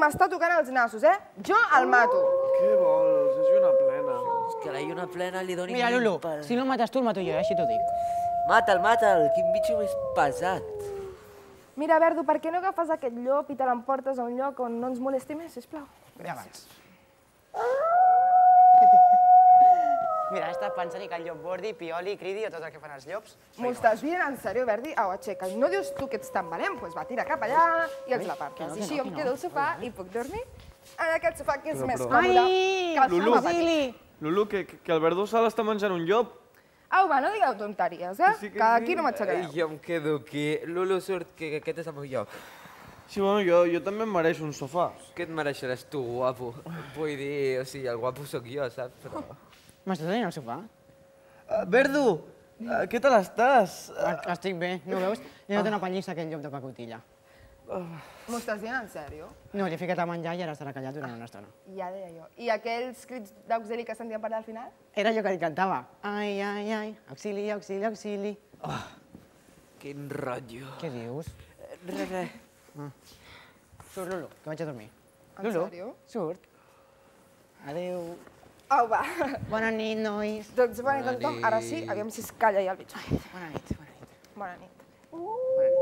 m'està tocant els nassos, eh? Jo el mato. Què vols? És una plena. És que la lluna plena li doni... Mira, Lulu, si no el mates tu, el mato jo, així t'ho dic. Mata'l, quin bitxo més pesat. Mira, Verdu, per què no agafes aquest llop i te l'emportes a un lloc on no ens molesti més, sisplau? Ja vaig. Mira, he estat pensant que el llop bordi, pioli, cridi o tot el que fan els llops. M'ho estàs dient en sèrio, Verdi? Au, aixeca. No dius tu que ets tan valent? Doncs va, tira cap allà i ens l'apartes. I així jo em quedo al sofà i puc dormir en aquest sofà que és més còmode que el sofà petit. Lulu, que el Verdú se l'està menjant un llop. Au, va, no digueu tonteries, eh? Que aquí no m'aixecareu. Jo em quedo aquí. Lulu, surt, que aquest és el meu lloc. Sí, bueno, jo també em mereixo un sofà. Què et mereixeràs tu, guapo? Vull dir, o sigui, el guapo sóc jo, saps? Però... M'estàs tenint al sofà? Verdu, què tal estàs? Estic bé, no ho veus? Li he donat una pallissa a aquell llop de pacotilla. M'ho estàs dient en sèrio? No, li he ficat a menjar i ara estarà callat durant una estona. Ja deia jo. I aquells crits d'auxili que sentíem per allà al final? Era allò que li cantava. Ai, ai, ai, auxili, auxili, auxili. Quin rotllo. Què dius? Res. Surt, Lulu, que vaig a dormir. En sèrio? Surt. Adéu. Au, va. Bona nit, nois. Doncs bona nit a tothom. Ara sí, aviam si es calla ja el bitxo. Bona nit, bona nit. Bona nit. Bona nit.